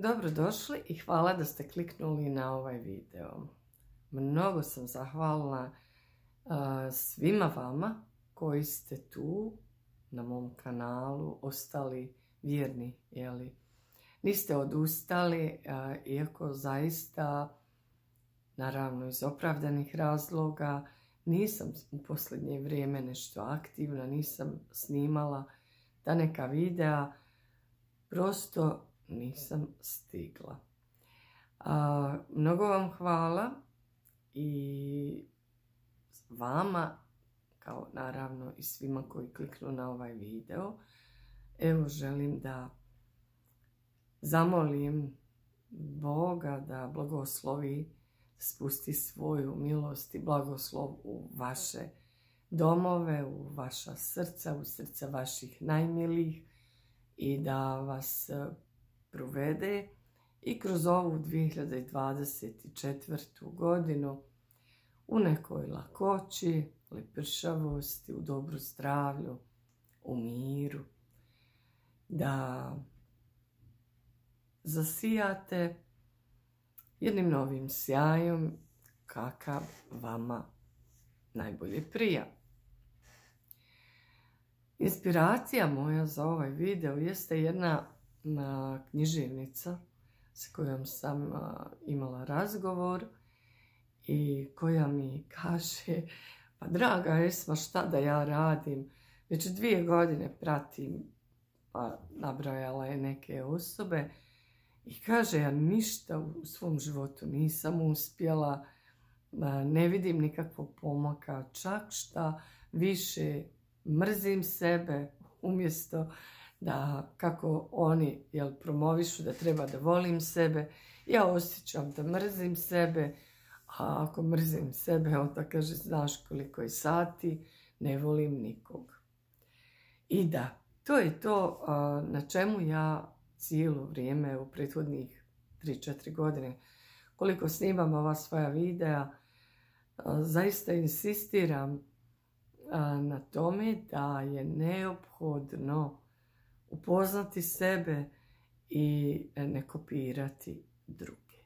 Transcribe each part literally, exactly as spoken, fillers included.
Dobrodošli i hvala da ste kliknuli na ovaj video. Mnogo sam zahvalna uh, svima vama koji ste tu na mom kanalu, ostali vjerni, jeli? Niste odustali, uh, iako zaista, naravno iz opravdanih razloga, nisam u posljednje vrijeme nešto aktivna, nisam snimala ta neka videa, prosto nisam stigla. A, mnogo vam hvala i vama, kao naravno i svima koji kliknu na ovaj video. Evo, želim da zamolim Boga da blagoslovi, spusti svoju milost i blagoslov u vaše domove, u vaša srca, u srca vaših najmilijih i da vas provede i kroz ovu dvije hiljade dvadeset četvrtu. godinu u nekoj lakoći, lepršavosti, u dobru zdravlju, u miru. Da zasijate jednim novim sjajom kakav vama najbolje prija. Inspiracija moja za ovaj video jeste jedna književnica s kojom sam imala razgovor i koja mi kaže: pa draga Esma, šta da ja radim? Već dvije godine pratim, pa nabrojala je neke osobe i kaže: ja ništa u svom životu nisam uspjela, ne vidim nikakvog pomaka, čak šta više mrzim sebe umjesto da, kako oni jel, promovišu da treba da volim sebe, ja osjećam da mrzim sebe, a ako mrzim sebe, onda kaže: znaš koliko je sati, ne volim nikog. I da, to je to na čemu ja cijelo vrijeme u prethodnih tri četiri godine, koliko snimam ova svoja videa, zaista insistiram na tome da je neophodno upoznati sebe i ne kopirati druge.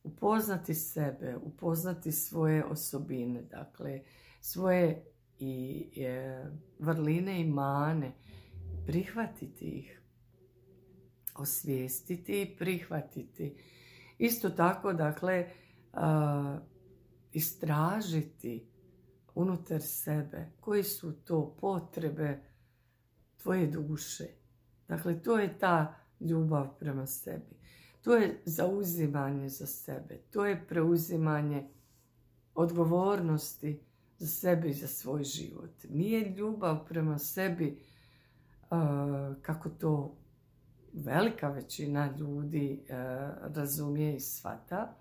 Upoznati sebe, upoznati svoje osobine, dakle svoje i e, vrline i mane, prihvatiti ih, osvijestiti i prihvatiti. Isto tako, dakle, a, istražiti unutar sebe koji su to potrebe tvoje duše. Dakle, to je ta ljubav prema sebi. To je zauzimanje za sebe. To je preuzimanje odgovornosti za sebe i za svoj život. Nije ljubav prema sebi uh, kako to velika većina ljudi uh, razumije i shvata.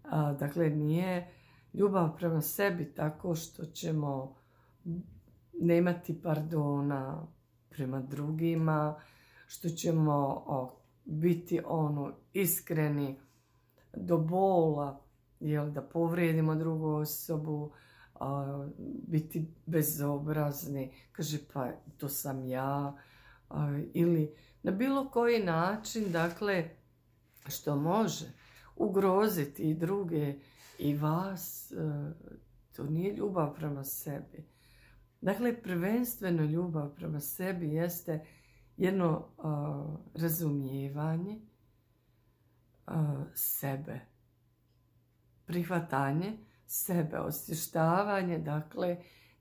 Uh, dakle, nije ljubav prema sebi tako što ćemo nemati pardona prema drugima, što ćemo o, biti ono iskreni do bola, jel, da povrijedimo drugu osobu, a, biti bezobrazni, kaže pa to sam ja, a, ili na bilo koji način, dakle, što može ugroziti i druge i vas, a, to nije ljubav prema sebi. Dakle, prvenstveno ljubav prema sebi jeste jedno uh, razumijevanje uh, sebe, prihvatanje sebe, osvještavanje, dakle,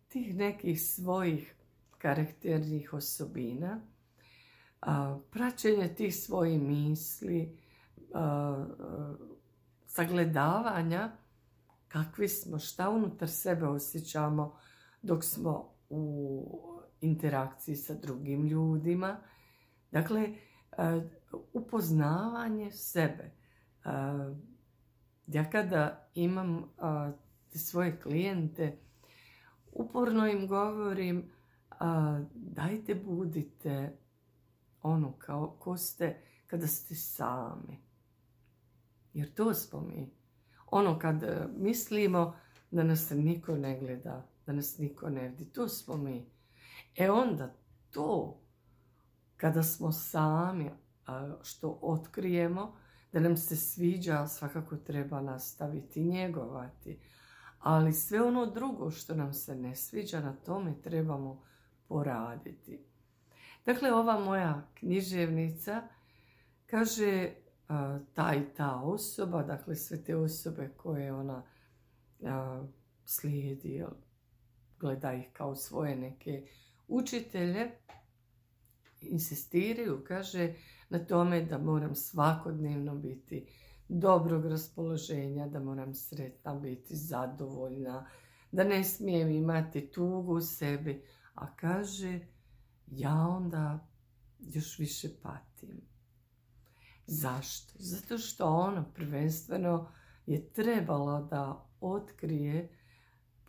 tih nekih svojih karakternih osobina, uh, praćenje tih svojih misli, uh, uh, sagledavanja kakvi smo, šta unutar sebe osjećamo dok smo u interakciji sa drugim ljudima. Dakle, upoznavanje sebe. Ja kada imam te svoje klijente, uporno im govorim: dajte budite ono kao ko ste kada ste sami. Jer to smo mi. Ono kad mislimo da nas niko ne gleda, da nas niko ne vidi, to smo mi. E onda to, kada smo sami, što otkrijemo, da nam se sviđa, svakako treba nastaviti njegovati. Ali sve ono drugo što nam se ne sviđa, na tome trebamo poraditi. Dakle, ova moja književnica kaže ta i ta osoba, dakle sve te osobe koje ona slijedi, gleda ih kao svoje neke učitelje, insistiraju, kaže, na tome da moram svakodnevno biti dobrog raspoloženja, da moram sretna biti, zadovoljna, da ne smijem imati tugu u sebi. A kaže, ja onda još više patim. Zašto? Zato što ona prvenstveno je trebala da otkrije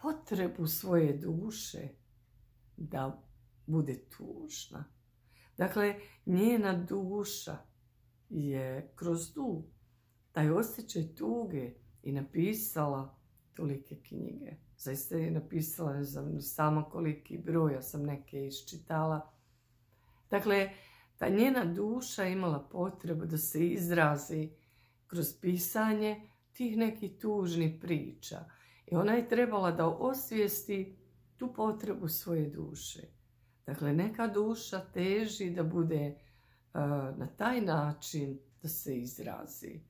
potrebu svoje duše da bude tužna. Dakle, njena duša je kroz tu, taj osjećaj tuge i napisala tolike knjige. Zaista je napisala, ne znam, samo koliki broj, ja sam neke iščitala. Dakle, ta njena duša imala potrebu da se izrazi kroz pisanje tih nekih tužnih priča. I ona je trebala da osvijesti tu potrebu svoje duše. Dakle, neka duša teži da bude uh, na taj način da se izrazi.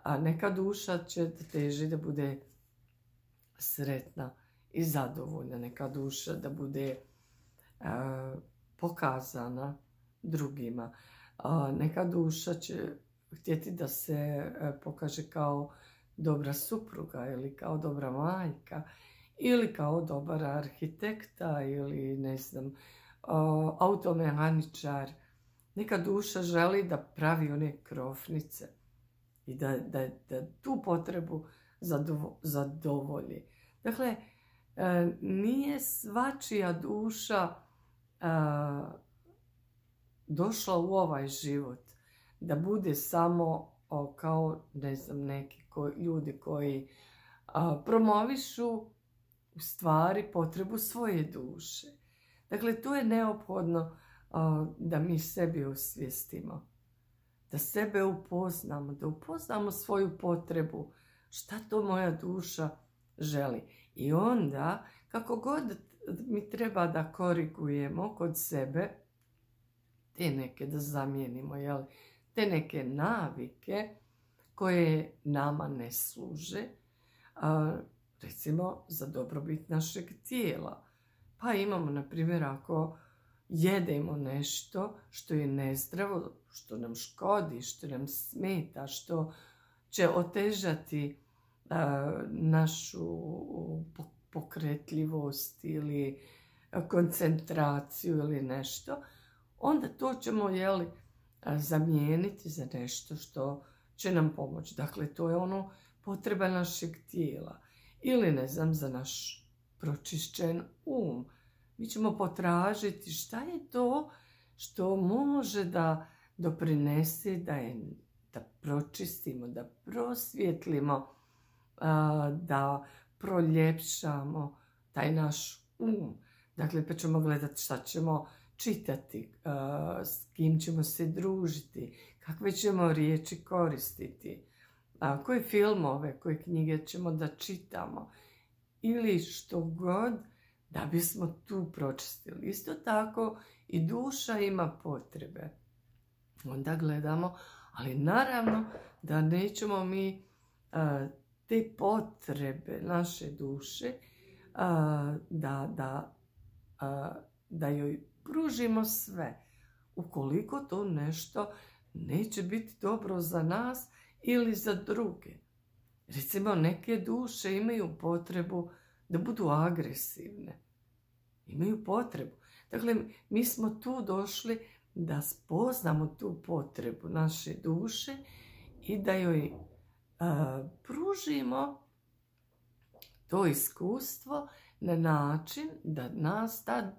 A neka duša će da teži da bude sretna i zadovoljna. Neka duša da bude uh, pokazana drugima. Uh, neka duša će htjeti da se uh, pokaže kao dobra supruga ili kao dobra majka ili kao dobar arhitekta ili ne znam, uh, automehaničar. Neka duša želi da pravi one krofnice i da, da, da tu potrebu zadovo, zadovolji. Dakle, uh, nije svačija duša uh, došla u ovaj život da bude samo o, kao, ne znam, neki ko, ljudi koji a, promovišu u stvari potrebu svoje duše. Dakle, tu je neophodno a, da mi sebi osvijestimo, da sebe upoznamo, da upoznamo svoju potrebu, šta to moja duša želi. I onda, kako god mi treba da korigujemo kod sebe, te neke da zamijenimo, jel? Te neke navike koje nama ne služe, a, recimo za dobrobit našeg tijela. Pa imamo, na primjer, ako jedemo nešto što je nezdravo, što nam škodi, što nam smeta, što će otežati a, našu pokretljivost ili koncentraciju ili nešto, onda to ćemo, jeli, zamijeniti za nešto što će nam pomoći. Dakle, to je ono potreba našeg tijela. Ili, ne znam, za naš pročišćen um. Mi ćemo potražiti šta je to što može da doprinese da, je, da pročistimo, da prosvjetlimo, da proljepšamo taj naš um. Dakle, pa ćemo gledati šta ćemo čitati, s kim ćemo se družiti, kakve ćemo riječi koristiti, koje filmove, koje knjige ćemo da čitamo ili što god da bismo tu pročistili. Isto tako i duša ima potrebe. Onda gledamo, ali naravno da nećemo mi te potrebe naše duše da, da, da joj pružimo sve, ukoliko to nešto neće biti dobro za nas ili za druge. Recimo, neke duše imaju potrebu da budu agresivne. Imaju potrebu. Dakle, mi smo tu došli da spoznamo tu potrebu naše duše i da joj a, pružimo to iskustvo na način da nas ta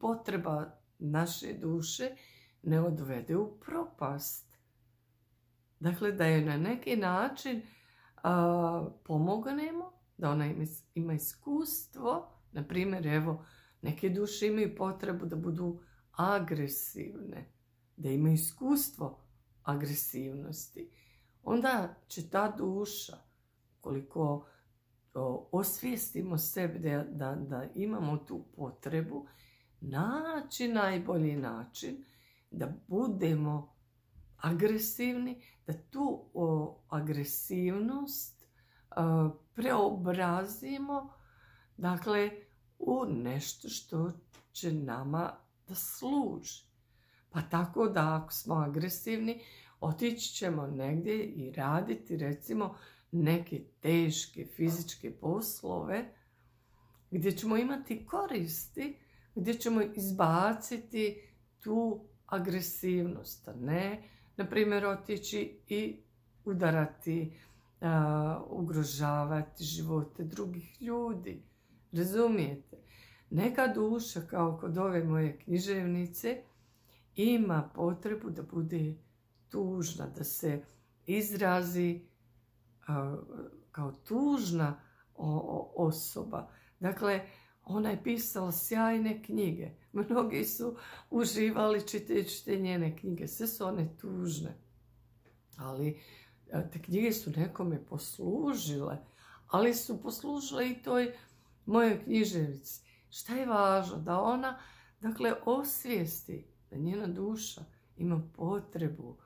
potreba naše duše ne odvede u propast. Dakle, da je na neki način a, pomognemo, da ona ima, ima iskustvo. Na primjer, evo, neke duše imaju potrebu da budu agresivne, da imaju iskustvo agresivnosti, onda će ta duša, koliko osvijestimo sebi da, da, da imamo tu potrebu, naći najbolji način da budemo agresivni, da tu o, agresivnost o, preobrazimo, dakle, u nešto što će nama da služi. Pa tako da ako smo agresivni, otići ćemo negdje i raditi recimo neke teške fizičke poslove gdje ćemo imati koristi, gdje ćemo izbaciti tu agresivnost, a ne, na primjer, otići i udarati, uh, ugrožavati živote drugih ljudi. Razumijete? Neka duša, kao kod ove moje književnice, ima potrebu da bude tužna, da se izrazi uh, kao tužna osoba. Dakle, ona je pisala sjajne knjige. Mnogi su uživali čitajući te njene knjige. Sve su one tužne. Ali te knjige su nekome poslužile. Ali su poslužile i toj mojoj književnici. Šta je važno? Da ona, dakle, osvijesti da njena duša ima potrebu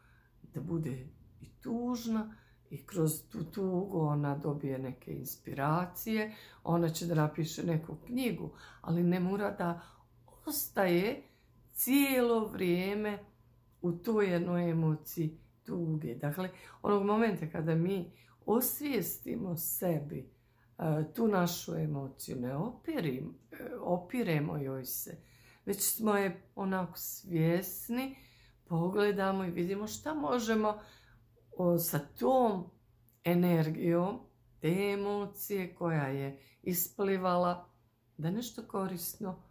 da bude i tužna, i kroz tu tugu ona dobije neke inspiracije, ona će da napiše neku knjigu, ali ne mora da ostaje cijelo vrijeme u toj jednoj emociji tuge. Dakle, onog momenta kada mi osvijestimo sebi tu našu emociju, ne opirim, opiremo joj se, već smo je onako svjesni, pogledamo i vidimo šta možemo sa tom energijom te emocije koja je isplivala, da nešto korisno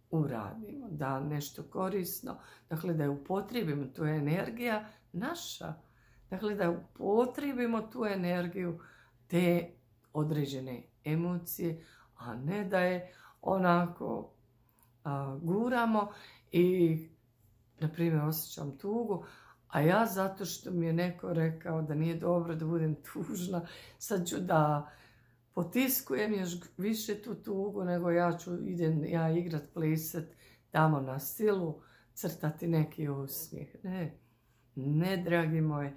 uradimo, da nešto korisno, dakle da je upotrijebimo, tu je energija naša, dakle da upotrijebimo tu energiju te određene emocije, a ne da je onako a, guramo i, na primjer, osjećam tugu, a ja zato što mi je neko rekao da nije dobro da budem tužna, sad ću da potiskujem još više tu tugu, nego ja ću idem ja igrat, plesat tamo na silu, crtati neki osmijeh. Ne, ne, dragi moji,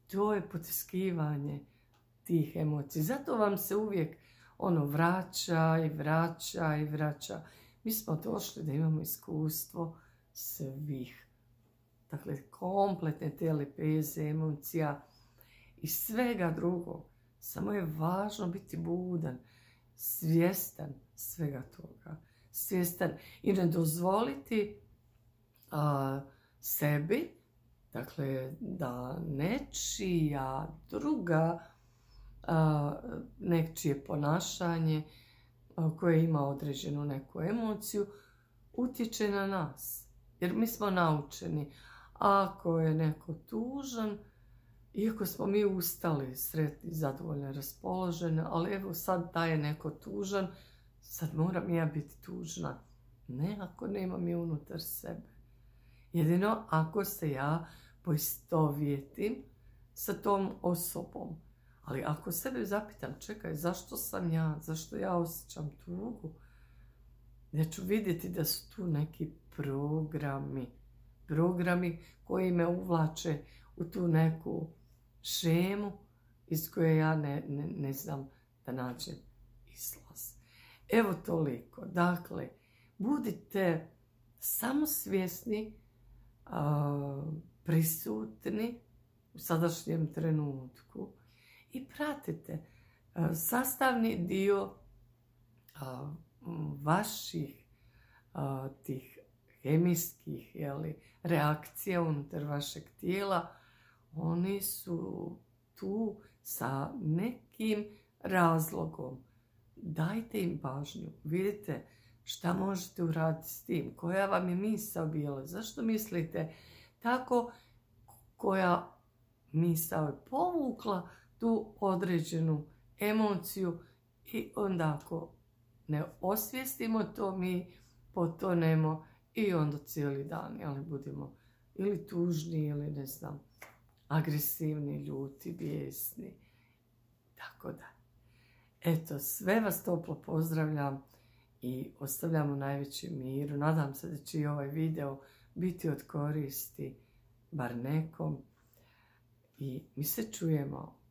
to je potiskivanje tih emocija. Zato vam se uvijek ono vraća i vraća i vraća. Mi smo došli da imamo iskustvo svih. Dakle, kompletne te lepeze, emocija i svega drugog. Samo je važno biti budan, svjestan svega toga. Svjestan i ne dozvoliti a, sebi, dakle, da nečija druga, a, nečije ponašanje a, koje ima određenu neku emociju, utječe na nas. Jer mi smo naučeni. Ako je neko tužan, iako smo mi ustali, sretni, zadovoljni, raspoloženi, ali evo sad da je neko tužan, sad moram ja biti tužna. Ne, ako nemam je unutar sebe. Jedino ako se ja poistovjetim sa tom osobom. Ali ako sebe zapitam, čekaj, zašto sam ja, zašto ja osjećam tugu, ja ću vidjeti da su tu neki programi. Programi koji me uvlače u tu neku šemu iz koje ja ne, ne, ne znam da nađem izlaz. Evo toliko. Dakle, budite samo svjesni, a, prisutni u sadašnjem trenutku i pratite a, sastavni dio a, vaših a, tih hemijskih, jeli, reakcija unutar vašeg tijela. Oni su tu sa nekim razlogom. Dajte im pažnju. Vidite šta možete uraditi s tim. Koja vam je misao bila. Zašto mislite tako, koja misao je povukla tu određenu emociju i onda ako ne osvijestimo to, mi potonemo i onda cijeli dan, ali budemo ili tužni ili ne znam agresivni, ljuti, bijesni, tako da. Eto, sve vas toplo pozdravljam i ostavljam u najvećem miru. Nadam se da će i ovaj video biti od koristi bar nekom. I mi se čujemo